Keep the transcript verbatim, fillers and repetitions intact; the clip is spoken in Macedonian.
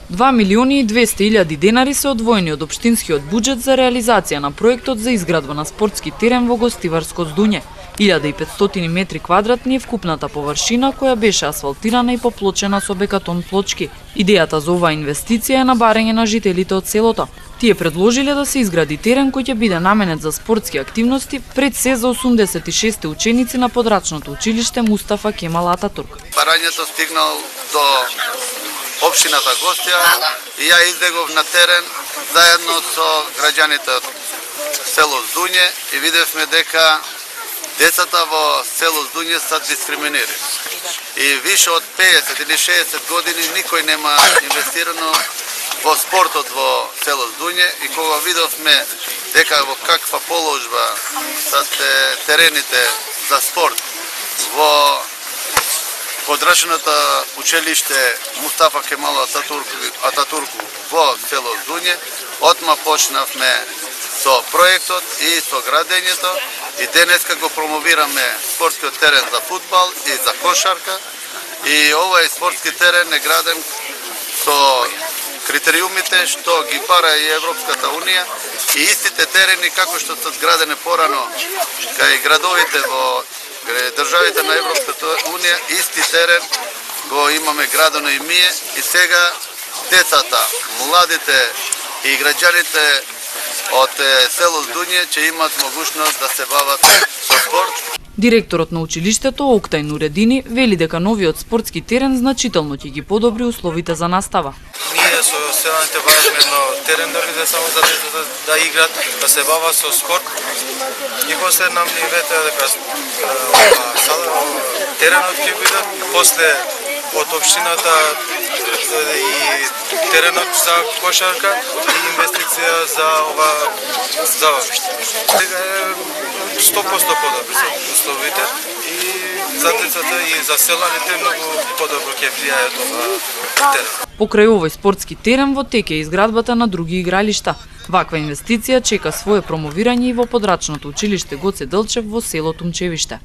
два милиони и двесте илјади денари се одвоени од општинскиот буџет за реализација на проектот за изградба на спортски терен во Гостиварско Здуње. илјада и петстотини метри квадратни е вкупната површина која беше асфалтирана и поплочена со бекатон плочки. Идејата за оваа инвестиција е на барање на жителите од селото. Тие предложиле да се изгради терен кој ќе биде наменет за спортски активности, пред се за осумдесет и шесте ученици на подрачното училиште Мустафа Кемал Ататурк. Барањето стигнал до општината Гостија и ја излегов на терен заедно со граѓаните од село Здуње и видевме дека децата во село Здуње се дискриминирани. И више од пеесет или шеесет години никој нема инвестирано во спортот во село Здуње и кога видовме дека во каква положба се терените за спорт во подрачното училиште Мустафа Кемал Ататурку во село Здуње, отма почнавме со проектот и со градењето и денеска го промовираме спортскиот терен за фудбал и за кошарка и овој спортски терен е граден со критериумите што ги бара и Европската унија и истите терени како што се градени порано кај градовите во државите на Европската унија, исти терен го имаме градено и ние и сега децата, младите и граѓаните од село Здуње ќе имат могушност да се бават со спорт. Директорот на училиштето Октај Нуредини вели дека новиот спортски терен значително ќе ги подобри условите за настава. Ние со селаните важно едно терен да биде само за децата да играат, да се бават со спорт. И после нам ни вете дека теренот ќе биде после од општината и теренот за кошарка и инвестиција за ова забавиште. Сега е сто проценти подобри се условите и за децата и за селаните многу подобро ќе влијаат ова терен. Покрај овој спортски терен во тек е изградбата на други игралишта. Ваква инвестиција чека свое промовирање и во подрачното училиште Гоце Делчев во село Тумчевиште.